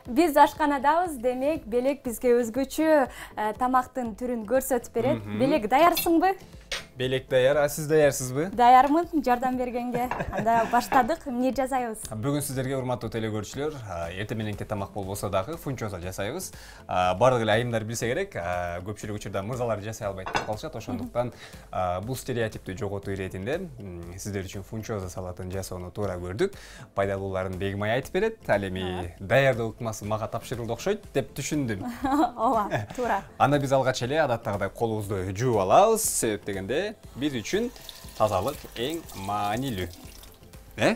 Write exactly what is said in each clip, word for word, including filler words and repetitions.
Биз ашканадабыз, демек Белек бизге өзгөчө тамактын түрүн көрсөтүп берет. Белек, даярсыңбы? Белек даяр, а сиз даярсызбы? Даярмын, жардам бергенге. Анда баштадык, эмне жасайбыз? Бүгүн сиздерге урматтуу телекөрүүчүлөр, эртең мененки тамак болбосо дагы фунчоза жасайбыз. Бардык эле айымдар билсе керек, көпчүлүк учурда мырзалар жасай албайт деп калышат. Ошондуктан бул стереотипти жоготуу иретинде сиздер үчүн фунчоза салатын жасоону туура көрдүк. Пайдалууларын Бегимай айтып берет. Ал эми даярдоо ыкмасы мага тапшырылды окшойт деп түшүндүм. Ооба, туура. Анда биз алгач эле адаттагыдай колубузду жууп алабыз. Себеп дегенде биз үчүн тазалык эң маанилүү. Э?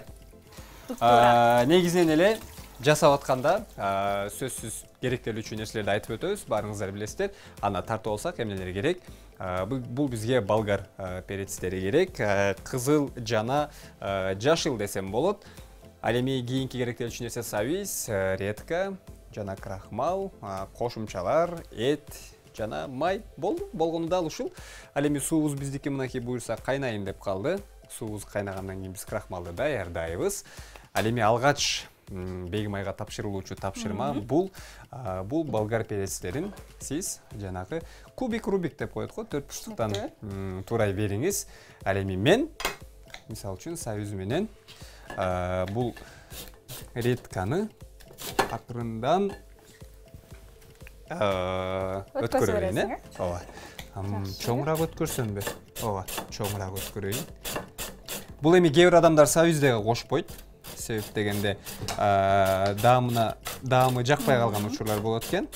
Негизинен эле жасап атканда сөзсүз керектелүүчү нерселерди айтып өтөбүз. Баарыңыздар билесиздер. Аны тартып алсак эмнелер керек? Бул бизге болгар перецтери керек. Кызыл жана жашыл десем болот. Ал эми кийинки керектелүүчү нерсе сабиз, редька жана крахмал, кошумчалар, эт жана май болду. Болгону да ушул. Ал эми суубуз биздики мынакей буюрса кайнайын деп калды. Суубуз кайнагандан кийин биз крахмалды даярдайбыз. Ал эми алгач Бегимайга тапшырылуучу тапшырма бул бул болгар перецтерин сиз жанагы кубик рубик деп коет го, төрт бурчтуктан туурай бериңиз. Ал эми мен мисалы үчүн сабиз менен бул редьканы акырындан өткөрө берейин, э? Ооба. Чоңураак өткөрсөмбү? Ооба, чоңураак өткөрөйүн. Бул эми кээ бир адамдар сабиз дагы кошпойт. Себеп дегенде даамына даамы жакпай калган учурлар болот экен.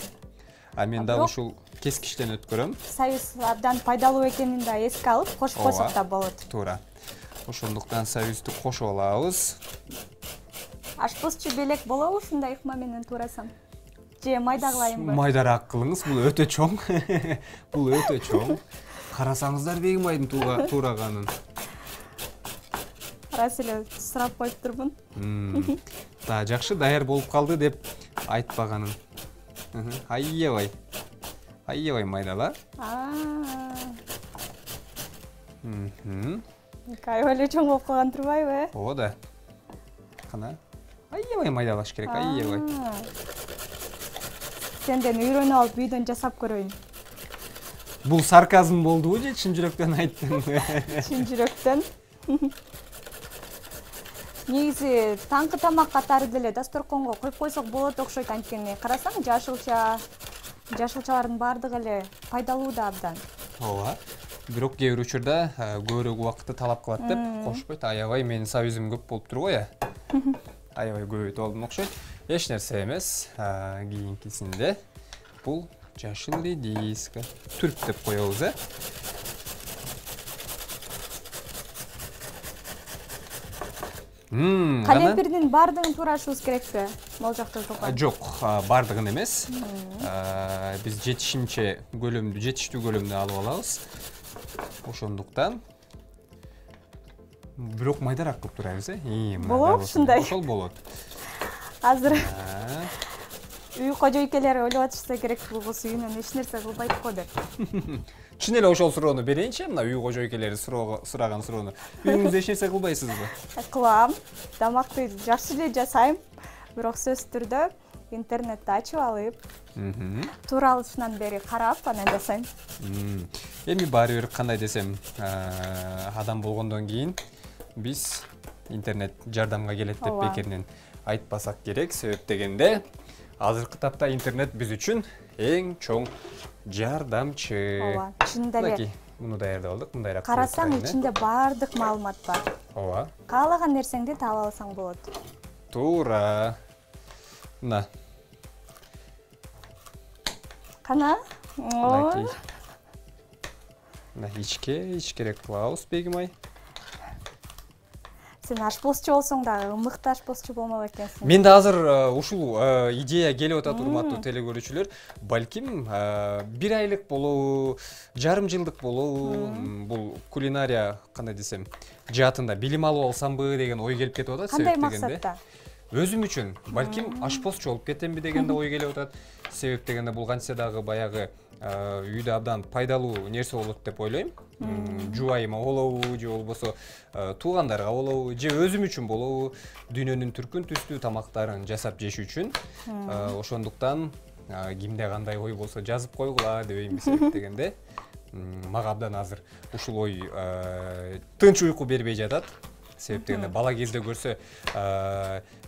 А мен дагы ушул кескичтен өткөрөм. Сабиз абдан пайдалуу экенин да эске алып, кошпосок да болот. Туура. Ошондуктан сабизди кошуп алабыз. Ашпозчу Белек болобу ушундай ыкма менен туурасам? Же майда кылайынбы? Майдараак кылыңыз, бул өтө чоң. Бул өтө чоң. Карасаңыздар Бегимайдын туураганын. Рас эле сурап коюптурмун. Да, жакшы, даяр болуп калды деп айтпаганын. Аябай. Аябай майдала. Мм. Аябай эле чоң болуп калган турбайбы, э? Ооба да. Кана. Аябай майдалаш керек, аябай. Сенден үйрөнүп алып үйдөн жасап көрөйүн. Бул сарказм болдубу же чын жүрөктөн айттыңбы? Чын жүрөктөн. Негизи таңкы тамак катары деле дасторконго коюп койсок болот окшойт, анткени карасаң жашылча, жашылчалардын баардыгы эле пайдалуу да абдан. Ооба. Бирок кээ бир учурда көбүрөөк убакытты талап кылат деп кошпойт. Аябай менин сабизим көп болуптур го, я. Аябай көбөйтүп алдым окшойт. Эч нерсе эмес. Кийинкисинде бул жашыл редиска. Түрк деп коебуз, э? Калемпирдин баардыгын туурашыбыз керекпи? Могул жакта жок. Жок, баардыгын эмес. Биз жетишимче көлөмдү, жетиштүү көлөмдү алып алабыз. Ошондуктан бирок майдараак кылып турабыз, э? Болобу ушундай? Ошол болот. Азыр үй кожойкелери ойлоп атышса керек, бул кыз үйүнөн эч нерсе кылбайт го деп. Чын эле ошол суроону берейинчи, мына үй кожойкелери сураган суроону. Үйүңүздө эч нерсе кылбайсызбы? Кылам. Тамакты жакшы эле жасайм, бирок сөзсүз түрдө интернетти ачып алып, тууралышынан бери карап анан жасайм. Эми баары бир кандай десем, адам болгондон кийин биз интернет жардамга келет деп бекеринен айтпасак керек. Себеп дегенде азыркы тапта интернет биз үчүн эң чоң жардамчы. Ооба, чынында эле. Муну даярдап алдык, мындайраак. Карасаң ичинде баардык маалымат бар. Ооба. Каалаган нерсеңди таап алсаң болот. Туура. Мына. Кана? Мына ичке, ичкерээк кылабыз Бегимай. Сен ашпозчу болсоң дагы мыкты ашпозчу болмок экенсиң. Менде азыр ушул идея келип атат, урматтуу телекөрүүчүлөр. Балким бир айлык болобу, жарым жылдык болобу, бул кулинария кандай десем, жаатында билим алып алсамбы деген ой келип кетип атат. Кандай максатта? Өзүм үчүн балким ашпозчу болуп кетемби деген да ой келип атат. Себеп дегенде бул кантсе дагы баягы үйдө абдан пайдалуу нерсе болот деп ойлойм. Жубайыма болобу, же болбосо туугандарга болобу, же өзүм үчүн болобу, дүйнөнүн түркүн түстүү тамактарын жасап жеш үчүн. Ошондуктан кимде кандай ой болсо жазып койгула дебейм дегенде. Мага абдан азыр ушул ой тынч уйку бербей жатат. Себеп дегенде бала кезде көрсө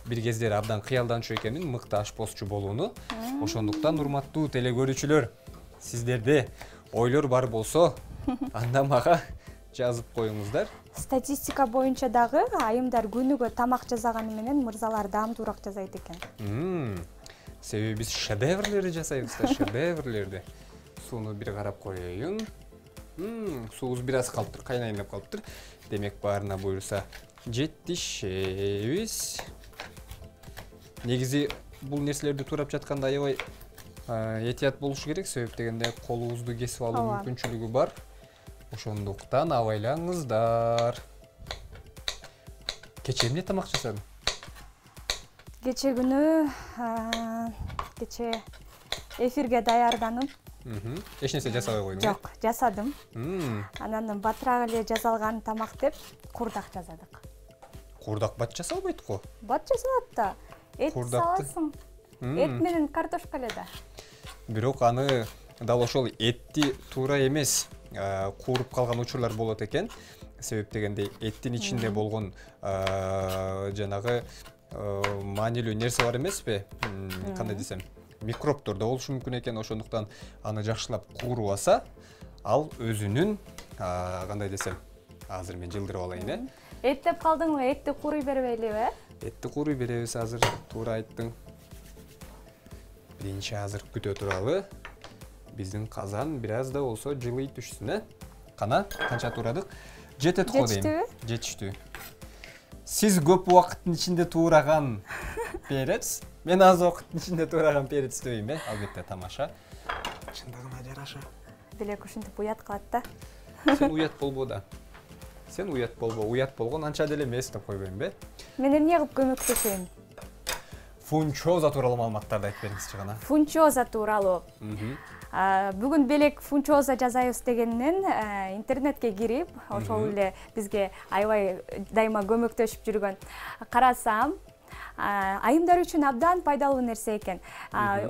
бир кездери абдан кыялданчу экенмин мыкты ашпозчу болууну. Ошондуктан урматтуу теле көрүүчүлөр, сиздерде ойлор бар болсо, анда мага жазып коюңуздар. Статистика боюнча дагы айымдар күнүгө тамак жасаганы менен мырзалар даамдуураак жасайт экен. Себеби биз шедеврлерди жасайбыз да, шедеврлерди. Сууну бир карап коеюн. Суубуз бир аз калыптыр, кайнайын деп калыптыр. Демек баарына буюрса жетишебиз. Негизи бул нерселерди туурап жатканда аябай этият болуш керек, себеп дегенде колубузду кесип алуу мүмкүнчүлүгү бар. Ошондуктан абайлаңыздар. Кечээ эмне тамак жасадың? Кечээ күнү кечээ эфирге даярданып. Эч нерсе жасабай койдуң? Жок, жасадым. Анан батыраак эле жасалган тамак деп курдак жасадык. Курдак бат жасалбайт го? Бат жасалат да. Эт саласың. Эт менен картошка эле да. Бирок аны дал ошол этти туура эмес кууруп калган учурлар болот экен. Себеп дегенде эттин ичинде болгон жанагы маанилүү нерсе бар эмеспи? Кандай десем, микробдор да болушу мүмкүн экен. Ошондуктан аны жакшылап кууруп алса, ал өзүнүн кандай десем, азыр мен жылдырып алайын, э? Эт деп калдыңбы? Этти кууруй бербейлиби, э? Этти кууруй беребиз азыр, туура айттың. Биринчи азыр күтө туралы. Биздин казан бир аз да болсо жылый түшсүн, э? Кана, канча турадык? Жетет го дейм. Жетиштүү. Сиз көп убакыттын ичинде туураган перец, мен аз убакыттын ичинде туураган перец дейм, э? Албетте тамаша. Чындыгына жараша. Белек ушинтип уят кылат да. Сен уят болбо да. Сен уят болбо, уят болгон анча деле эмес деп койбойм, бе? Мен эмне кылып көмөктөшөйүн? Фунчоза тууралуу маалыматтарды айтып бериңизчи гана. Фунчоза тууралуу. Бүгүн белек фунчоза жасайбыз дегенден интернетке кирип, ошол эле бизге аябай дайыма көмөктөшүп жүргөн карасам, айымдар үчүн абдан пайдалуу нерсе экен.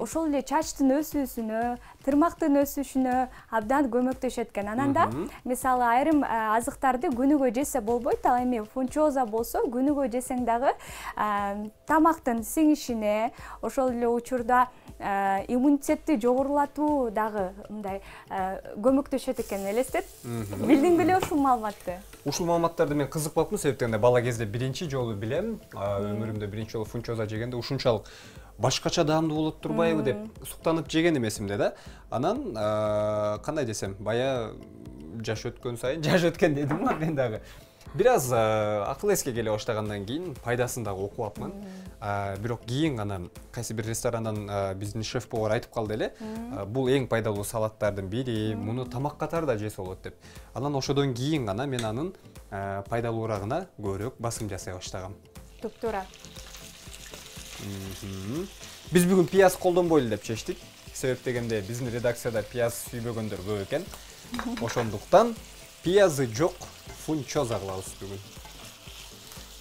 Ошол эле чачтын өсүүсүнө, тырмактын өсүшүнө абдан көмөктөшөт экен. Анан да мисалы айрым азыктарды күнүгө жесе болбойт, ал эми фунчоза болсо күнүгө жесең дагы тамактын сиңишине, ошол эле учурда иммунитетти жогорулатуу дагы мындай көмөктөшөт экен, элестет. Билдиң беле ушул маалыматты? Ушул маалыматтарды мен кызык болуптум, себеп дегенде бала кезде биринчи жолу билем, өмүрүмдө биринчи жолу фунчоза жегенде ушунчалык башкача даамдуу болот турбайбы деп суктанып жеген эмесимде да. Анан кандай десем, бая жаш өткөн сайын, жаш өткөн дедим го мен дагы. Бир аз акыл эске келе баштагандан кийин пайдасын дагы окуп апмын. Бирок кийин гана кайсы бир ресторандан биздин шеф-повар айтып калды эле, бул эң пайдалуу салаттардын бири, муну тамак катары да жесе болот деп. Анан ошодон кийин гана мен анын пайдалуурагына көбүрөөк басым жасай баштагам. Туп-туура. Биз бүгүн пияз колдонбойлу деп чечтик. Себеп дегенде биздин редакцияда пияз сүйбөгөндөр көп экен. Ошондуктан пиязы жок фунчоза кылабыз бүгүн.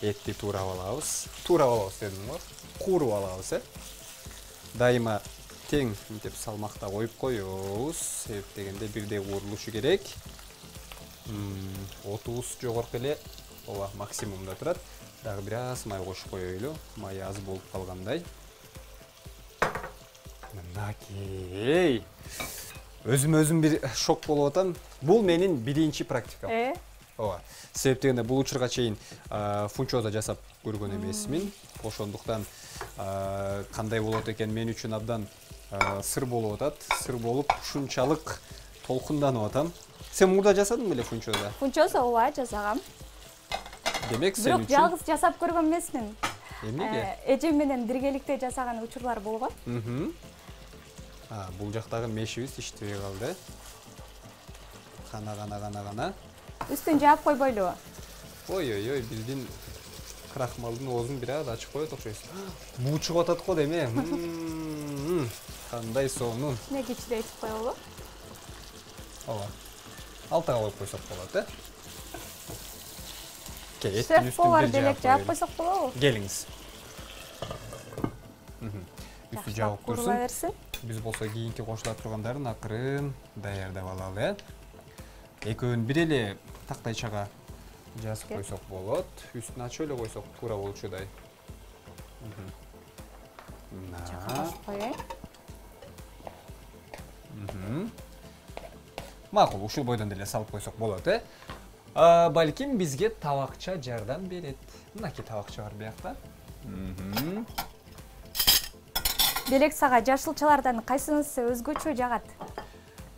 Этти туурап алабыз. Туурап алабыз дедим го. Кууруп алабыз, э? Дайыма тең мынтип салмакта коюп коебуз. Себеп дегенде бирдей куурулушу керек. Отубуз жогорку эле, ооба, максимумда турат. Дагы бир аз май кошуп коелу. Май аз болуп калгандай. Мынакей. Өзүм-өзүм бир шок болуп атам. Бул менин биринчи практикам. Э? Ооба. Себеп дегенде бул учурга чейин фунчоза жасап көргөн эмесмин. Ошондуктан кандай болот экен мен үчүн абдан сыр болуп атат. Сыр болуп ушунчалык толкунданып атам. Сен мурда жасадың беле фунчоза? Фунчоза ооба жасагам. Демек сен үчүн. Бирок жалгыз жасап көргөн эмесмин. Эмнеге? Эжем менен биргеликте жасаган учурлар болгон. А, бул жактагы мешибиз иштебей калды. Кана кана кана кана. Үстүн жаап койбойлубу? Ой-ой-ой, биздин крахмалдын оозун бир аз ачып коет окшойсуз. Буу чыгып атат го деме. Кандай сонун. Кичине кичине ичип коелу. ооба. Алтыга коюп койсок болот, э? Кел, Шеф повар белек жаап койсок болобу? Келиңиз. Үстү жабып турсун. Берсин. Биз болсо кийинки кошула тургандарын акырын даярдап алалы. Экөөнү бир эле тактайчага жазып койсок болот. Үстүн ачып эле койсок туура болчудай. Жакынлашып коеюн. Макул, ушул бойдон деле салып койсок болот, э? Балким бизге табакча жардам берет. Мынакей табакча бар биякта. Белек сага жашылчалардан кайсынысы өзгөчө жагат?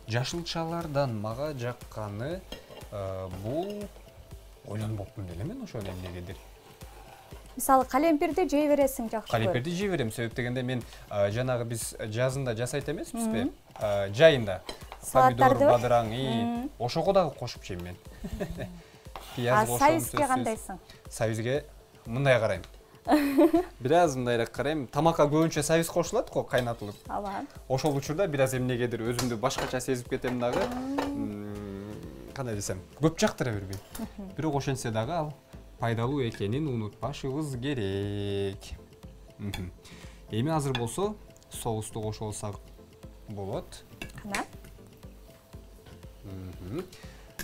Жашылчалардан мага жакканы бул ойлонбоптум деле мен ошону эмнегедир. Мисалы, калемпирди жей бересиң жакшы. Калемпирди жей берем, себеп дегенде мен жанагы биз жазында жасайт эмеспизби? Жайында помидор, бадыраң, ошого дагы кошуп жейм мен. Пияз кошом. А сайызге кандайсың? Сайызге мындай карайм. Бир аз мындайраак карайм. Тамакка көбүнчө сайыз кошулат го, кайнатылып. Ооба. Ошол учурда бир аз эмнегедир өзүмдү башкача сезип кетем дагы. Кандай десем, көп жактыра бербейм. Бирок ошентсе дагы ал пайдалуу экенин унутпашыбыз керек. Эми азыр болсо соусту кошо алсак болот. Кана?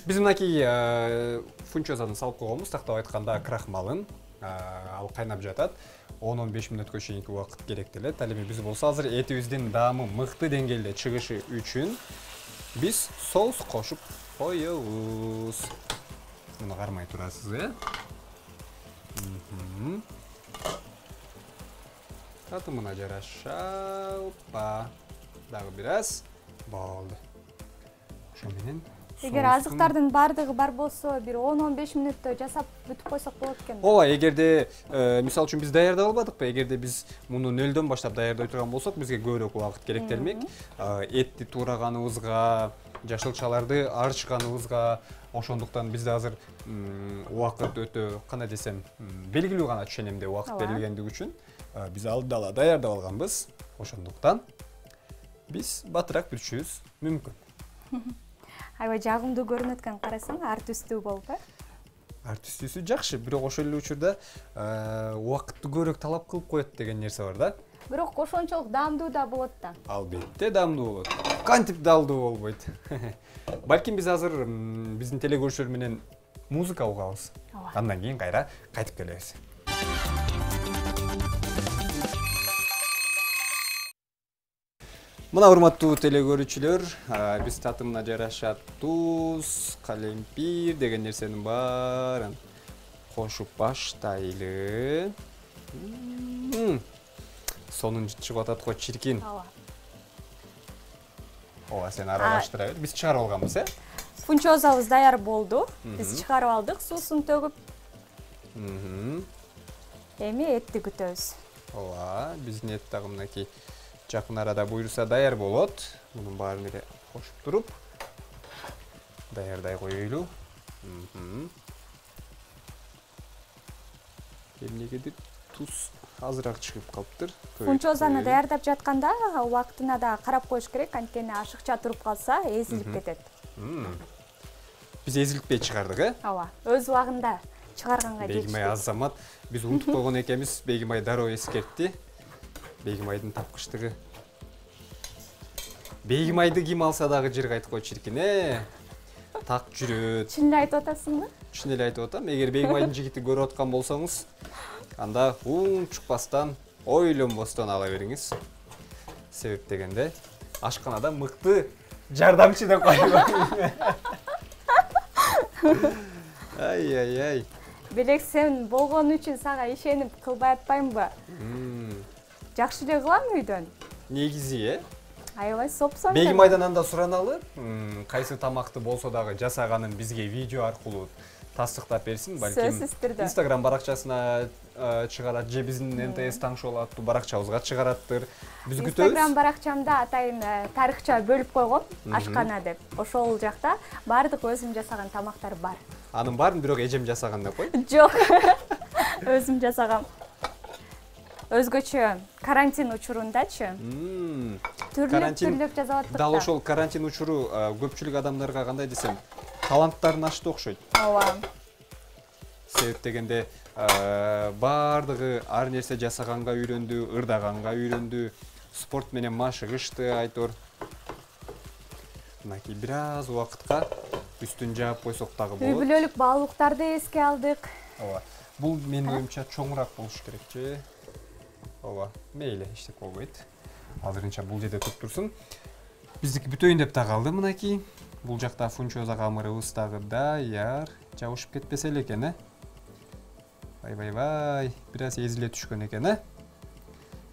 Биз мынакей фунчозаны салып койгонбуз, тактап айтканда крахмалын. Ал кайнап жатат. он он беш мүнөткө чейинки убакыт керектелет. Ал эми биз болсо азыр этибиздин даамы мыкты деңгээлде чыгышы үчүн биз соус кошуп коебуз. Муну кармай турасыз, э? Татымына жараша, опа. Дагы бир аз болду. Ошо менен эгер азыктардын баардыгы бар болсо, бир он он беш мүнөттө жасап бүтүп койсок болот экен. Ооба, эгерде мисалы үчүн биз даярдап албадыкпы, эгерде биз муну нөлдөн баштап даярдай турган болсок, бизге көбүрөөк убакыт керектелмек. Этти туураганыбызга, жашылчаларды арчыганыбызга, ошондуктан бизде азыр убакыт өтө, кандай десем, белгилүү гана ченемде убакыт берилгендиги үчүн биз алдыда даярдап алганбыз. Ошондуктан биз батыраак бүтүшүбүз мүмкүн. Аябай жагымдуу көрүнөт экен, карасаң, ар түстүү болуп, э? Ар түстүүсү жакшы, бирок ошол эле учурда убакытты көбүрөөк талап кылып коет деген нерсе бар да. Бирок ошончолук даамдуу да болот да. Албетте даамдуу болот. Кантип даамдуу болбойт. Балким биз азыр биздин телекөрүүчүлөр менен музыка угабыз. Андан кийин кайра кайтып келебиз. Мына урматтуу телекөрүүчүлөр, биз татымына жараша туз, калемпир деген нерсенин баарын кошуп баштайлы. Сонун чыгып атат го, чиркин. Ооба. Ооба, сен аралаштыра бер. Биз чыгарып алганбыз, э? Фунчозабыз даяр болду. Биз чыгарып алдык, суусун төгүп. Эми этти күтөбүз. Ооба, биздин эт дагы мынакей жакын арада буйруса даяр болот. Мунун баарын эле кошуп туруп даярдай коелу. Эмнегедир туз азыраак чыгып калыптыр. Фунчозаны даярдап жатканда убактына да карап коюш керек, анткени ашыкча туруп калса эзилип кетет. Биз эзилтпей чыгардык, э? Ооба, өз убагында чыгарганга жетиштик. Бегимай азамат, биз унутуп койгон экенбиз, Бегимай дароо эскертти. Бегимайдын тапкычтыгы. Бегимайды ким алса дагы жыр кайтып кой чиркин, э? Так жүрөт. Чын эле айтып атасыңбы? Чын эле айтып атам. Эгер Бегимайдын жигити көрүп аткан болсоңуз, анда унчукпастан, ойлонбостон ала бериңиз. Себеп дегенде ашканада мыкты жардамчы деп коебу. Ай-ай-ай. Белек, сен болгон үчүн сага ишенип кылбай атпаймынбы? Жакшы эле кылам үйдөн. Негизи, э? Аябай сопсон. Бегимайдан анда сураналы, кайсы тамакты болсо дагы жасаганын бизге видео аркылуу тастыктап берсин, балким Instagram баракчасына чыгарат, же биздин эн тэ эс таңшол аттуу баракчабызга чыгараттыр. Биз күтөбүз. Instagram баракчамда атайын тарыхча бөлүп койгом, ашкана деп. Ошол жакта баардык өзүм жасаган тамактар бар. Анын баарын бирок эжем жасаган деп кой. Жок. Өзүм жасагам. өзгөчө карантин учурундачы түрлүк түрлүк жасап аттык. Дал ошол карантин учуру көпчүлүк адамдарга кандай десем, таланттарын ачты окшойт. Ооба. Себеп дегенде баардыгы ар нерсе жасаганга үйрөндү, ырдаганга үйрөндү, спорт менен машыгышты айтор. Мынакей бир аз убакытка үстүн жаап койсок дагы болот. Үй бүлөлүк баалуулуктарды эске алдык. Ооба. Бул менин оюмча чоңураак болуш керекчи. Ооба, мейли, эчтек болбойт. Азырынча бул жерде туруп турсун. Биздики бүтөйүн деп да калды мынакей. Бул жакта фунчоза камырыбыз дагы даяр. Жабышып кетпесе эле экен, э? Вай вай вай, бир аз эзиле түшкөн экен, э?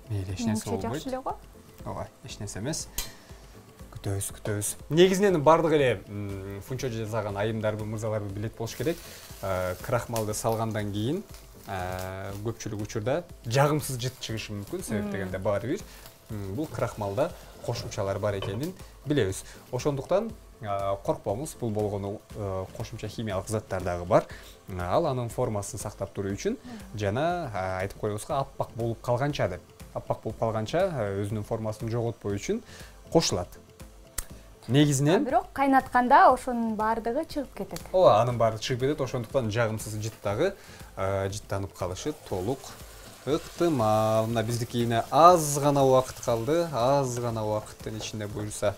Мейли, эч нерсе болбойт. Жакшы эле го. Ооба, эч нерсе эмес. Күтөбүз, күтөбүз. Негизинен бардык эле фунчо жасаган айымдарбы, мырзаларбы билет болуш керек. Крахмалды салгандан кийин көпчүлүк учурда жагымсыз жыт чыгышы мүмкүн. Себеп дегенде баары бир бул крахмалда кошумчалар бар экенин билебиз. Ошондуктан коркпоңуз, бул болгону кошумча химиялык заттар дагы бар. Ал анын формасын сактап туруу үчүн жана айтып коебузга аппак болуп калганча деп. Аппак болуп калганча өзүнүн формасын жоготпоо үчүн кошулат. Негизинен бирок кайнатканда ошонун баардыгы чыгып кетет. Ооба, анын баары чыгып кетет. Ошондуктан жагымсыз жыт дагы жыттанып калышы толук ыктымал. Мына биздикине аз гана убакыт калды. Аз гана убакыттын ичинде буюрса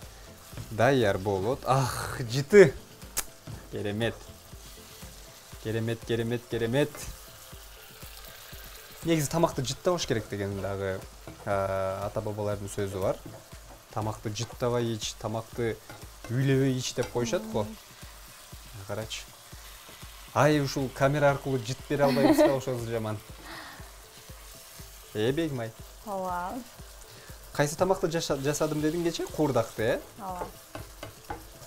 даяр болот. Ах, жыты. Керемет. Керемет, керемет, керемет. Негизи тамакты жыттабаш керек деген дагы ата бабалардын сөзү бар. Тамакты жыттабай ич, тамакты үйлөбөй ич деп коюшат го. Карачы. Ай, ушул камера аркылуу жыт бере албайбыз да, ошол жаман. Э, Бегмай. Ооба. Кайсы тамакты жасадым дедиң кече? Куурдакты, э? Ооба.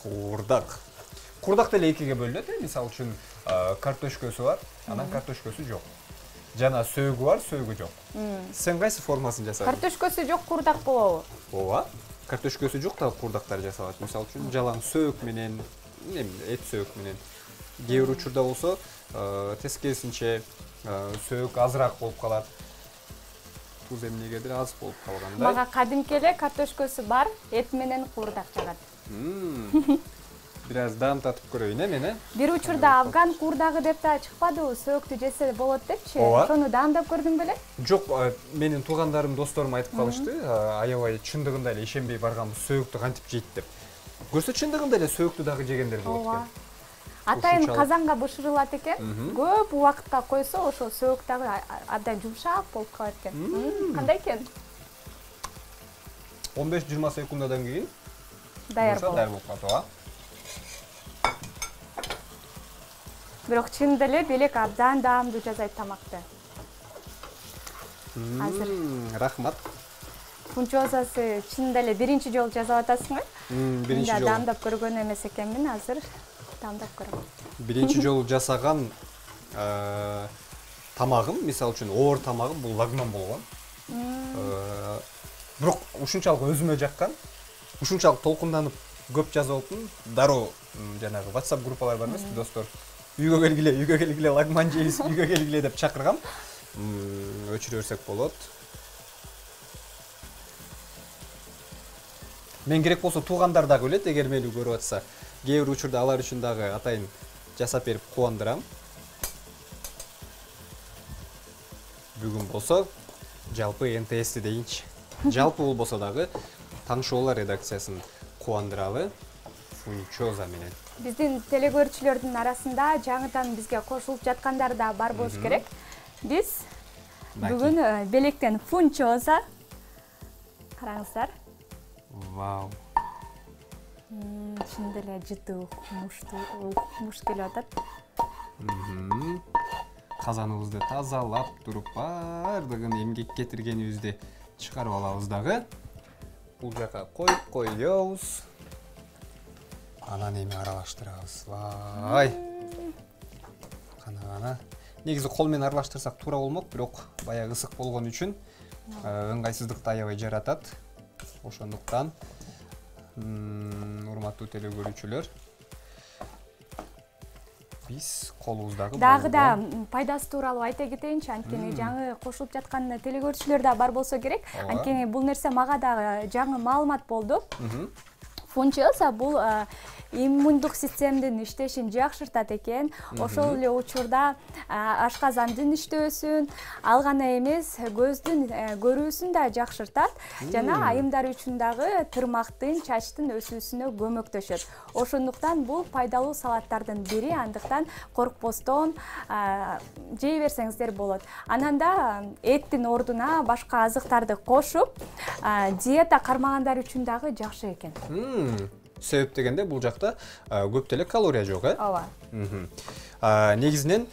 Куурдак. Куурдак деле экиге бөлүнөт, э? Мисалы үчүн, картошкөсү бар, анан картошкөсү жок. Жана сөөгү бар, сөөгү жок. Сен кайсы формасын жасадың? Картошкөсү жок куурдак болобу? Ооба. Картошкөсү жок да куурдактар жасалат. Мисалы үчүн жалаң сөök менен, эт сөök менен. Кээ бир учурда болсо, тескерисинче сөök азыраак болуп калат. Туз эмнегедир аз болуп калгандай. Мага кадимки эле картошкөсү бар, эт менен куурдак жагат. Бир аз даам татып көрөйүн, э, мен, э? Бир учурда афган куурдагы деп да чыкпадыбы, сөөктү жесе болот депчи. Ошону даамдап көрдүң беле? Жок, менин туугандарым, досторум айтып калышты, аябай чындыгында эле ишенбей барганбыз, сөөктү кантип жейт деп. Көрсө чындыгында эле сөөктү дагы жегендер болот экен. Атайын казанга бышырылат экен. Көп убакытка койсо, ошол сөөк дагы абдан жумшак болуп калат экен. Кандай экен? он беш жыйырма секундадан кийин даяр болот. Даяр болуп калат, ооба. Бирок чынында эле Белек абдан даамдуу жасайт тамакты. Азыр. Рахмат. Фунчозасы чынында эле биринчи жолу жасап атасыңбы? Биринчи жолу. Даамдап көргөн эмес экенмин, азыр даамдап көрөм. Биринчи жолу жасаган тамагым, мисалы үчүн оор тамагым бул лагман болгон. Бирок ушунчалык өзүмө жаккан, ушунчалык толкунданып көп жазып алыптым. Дароо жанагы WhatsApp группалар бар эмеспи, достор? Үйгө келгиле, үйгө келгиле, лагман жейбиз, үйгө келгиле деп чакыргам. Өчүрө берсек болот. Мен керек болсо туугандар дагы билет, эгер мени көрүп атса. Кээ бир учурда алар үчүн дагы атайын жасап берип кубандырам. Бүгүн болсо жалпы эн тэ эсти дейинчи. Жалпы болбосо дагы Таңшоолар редакциясын кубандыралы Фунчоза менен. Биздин телекөрүүчүлөрдүн арасында жаңыдан бизге кошулуп жаткандар да бар болуш керек. Биз бүгүн Белектен Фунчоза. Караңыздар. Вау. Чынында эле жыты мушту муш келип атат. Казаныбызды тазалап туруп бардыгын эмгек кетиргенибизди чыгарып алабыз дагы. Бул жака коюп коёбуз. Анан эми аралаштырабыз. Вай. Кана-кана. Негизи кол менен аралаштырсак туура болмок, бирок баягы ысык болгон үчүн ыңгайсыздыкты аябай жаратат. Ошондуктан урматтуу телекөрүүчүлөр, биз колубуздагы дагы да пайдасы тууралуу айта кетейинчи, анткени жаңы кошулуп жаткан телекөрүүчүлөр да бар болсо керек. Анткени бул нерсе мага дагы жаңы маалымат болду. Фунчоза бул иммундук системанын иштешин жакшыртат экен. Ошол эле учурда ашказандын иштөөсүн, ал гана эмес, көздүн көрүүсүн да жакшыртат жана айымдар үчүн дагы тырмактын, чачтын өсүүсүнө көмөктөшөт. Ошондуктан бул пайдалуу салаттардын бири, андыктан коркпостон жей берсеңиздер болот. Анан да эттин ордуна башка азыктарды кошуп, диета кармагандар үчүн дагы жакшы экен. Себеп дегенде бул жакта көп деле калория жок, э? Ооба. Негизинен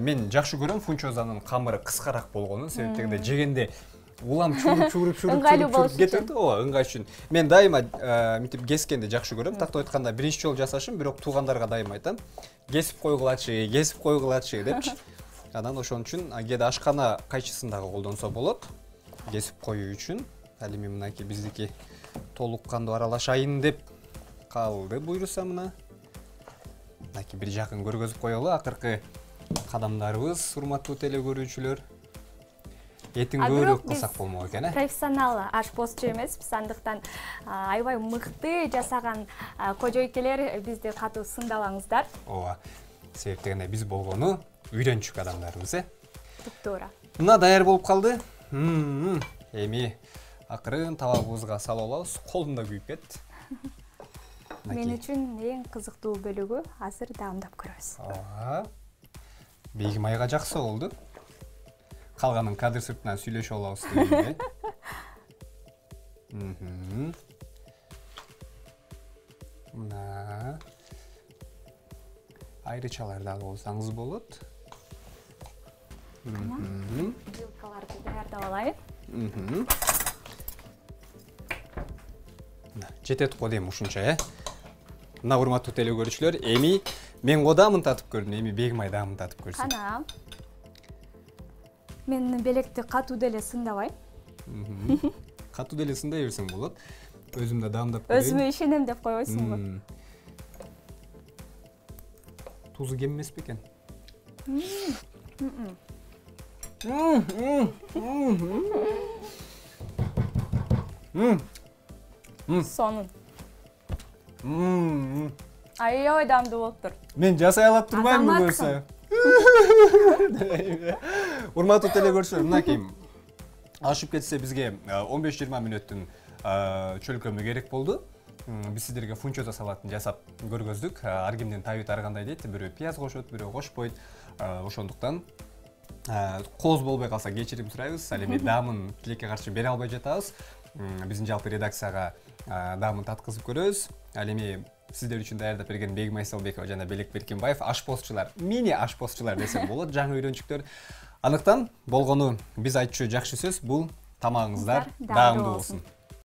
мен жакшы көрөм фунчозанын камыры кыскараак болгонун, себеп дегенде жегенде улам чуруп чуруп чуруп чуруп кетет, ооба, ыңгай үчүн. Мен дайыма мынтип кескенди жакшы көрөм. Тактап айтканда биринчи жолу жасашым, бирок туугандарга дайыма айтам, кесип койгулачы, кесип койгулачы депчи. Анан ошон үчүн кээде ашкана кайчысын дагы колдонсо болот. Кесип коюу үчүн. Ал эми мынакей биздики толук кандуу аралашайын деп калды буйруса мына. Мынакей бир жакын көргөзүп коелу акыркы кадамдарыбыз, урматтуу телекөрүүчүлөр. Этин көбүрөөк кылсак болмок экен, э? Профессионал ашпозчу эмеспиз, андыктан аябай мыкты жасаган кожойкелер бизди катуу сындабаңыздар. Ооба. Себеп дегенде биз болгону үйрөнчүк адамдарбыз, э? Туптуура. Мына даяр болуп калды. Эми акырын табагыбызга салып алабыз. Колум да күйүп кетти. Мен үчүн эң кызыктуу бөлүгү азыр даамдап көрөбүз. Ооба. Бейги майга жакса болду. Калганын кадр сыртынан сүйлөшүп алабыз дегенде. Мына айрычалар дагы болсаңыз болот. Жилкаларды даярдап алайын. Жетет го дейм ушунча, э? Мына урматтуу телекөрүүчүлөр, эми мен годамын татып көрдүм, эми Бегимай дагы татып көрсүн. Кана. Мен белекти катуу деле сындабайм. Катуу деле сындай берсең болот. Өзүм да даамдап көрөйүн. Өзүмө ишенем деп койбойсуңбу? Тузу кем эмес бекен? Сонун. Аябай даамдуу болуптур. Мен жасай алат турбаймынбы көрсө? Урматтуу телекөрүүчүлөр, мынакей ашып кетсе бизге он беш жыйырма мүнөттүн чөлкөмү керек болду. Биз сиздерге фунчоза салатын жасап көргөздүк. Ар кимдин табити ар кандай дейт, бирөө пияз кошот, бирөө кошпойт. Ошондуктан кооз болбой калса кечирим сурайбыз. Ал эми даамын тилекке каршы бере албай жатабыз. Биздин жалпы редакцияга даамын таткызып көрөбүз. Ал эми сиздер үчүн даярдап берген Бегимай Салбекова жана Белек Беркинбаев ашпозчулар, мини ашпозчулар десем болот, жаңы үйрөнчүктөр. Анықтан болгону биз айтчу жакшы сөз, бул тамагыңыздар даамдуу болсун.